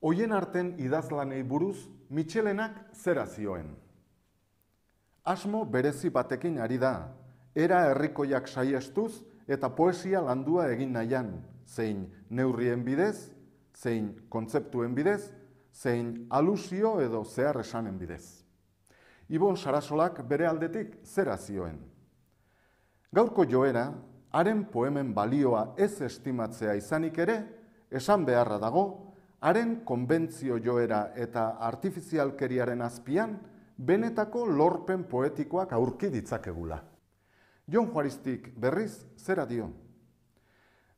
Hoien arten idazlanei buruz, Mitxelenak zera zioen. Asmo berezi batekin ari da, era herrikoiak saihestuz eta poesia landua egin nahian, zein neurrien bidez, zein kontzeptuen bidez, zein alusio edo zehar esanen bidez. Ibon Sarasolak bere aldetik zera zioen. Gaurko joera, haren poemen balioa ez estimatzea izanik ere, esan beharra dago, haren konbentzio joera eta artifizialkeriaren azpian, benetako lorpen poetikoak aurki ditzakegula. Jon Juaristik berriz zera dio.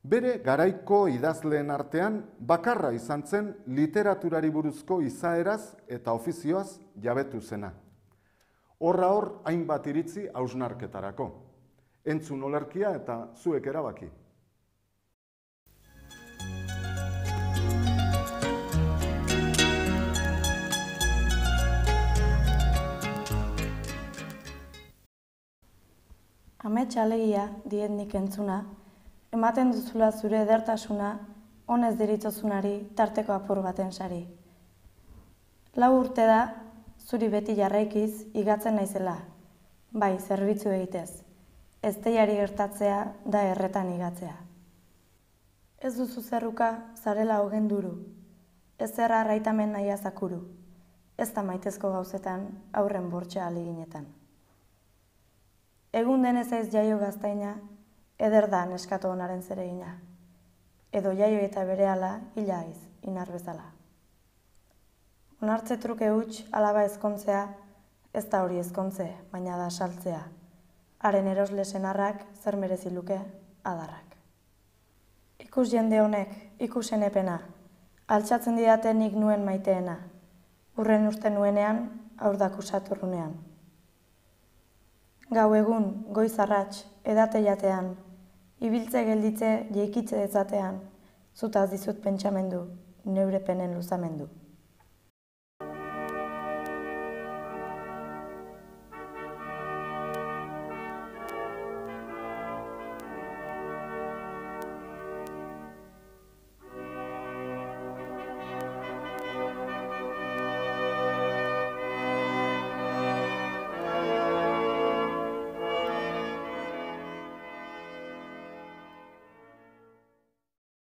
Bere garaiko idazleen artean bakarra izan zen literaturari buruzko izaeraz eta ofizioaz jabetu zena. Horra hor hainbat iritzi hausnarketarako. Entzun olerkia eta zuek erabaki. Amets alegia, diet nik entzuna, ematen duzula zure edertasuna, honez deritzozunari tarteko apur baten sari. 4 urte da, zuri beti jarraikiz igatzen naizela, bai zerbitzu egitez, ezteiari gertatzea da erretan igatzea. Ez duzu zerruka zarela hogen duru, ez zerra arraitamen nahia zakuru, ez da maitezko gauzetan aurren bortxa aliginetan. Egun denez aiz jaio gaztaina, eder da neskatu honaren zeregina. Edo jaio eta berehala hila aiz, inar bezala. Onartze truke huts alaba ezkontzea, ez da hori ezkontze, baina da saltzea. Haren erosle senarrak zer merezi luke adarrak. Ikus jende honek, ikusen epena, altxatzen didate nik nuen maiteena. Urren uste nuenean, aurdak usaturrunean. Gau egun, goiz arrats, edate jatean, ibiltze gelditze jeikitze dezatean, zutaz dizut pentsamendu, neure penen luzamendu.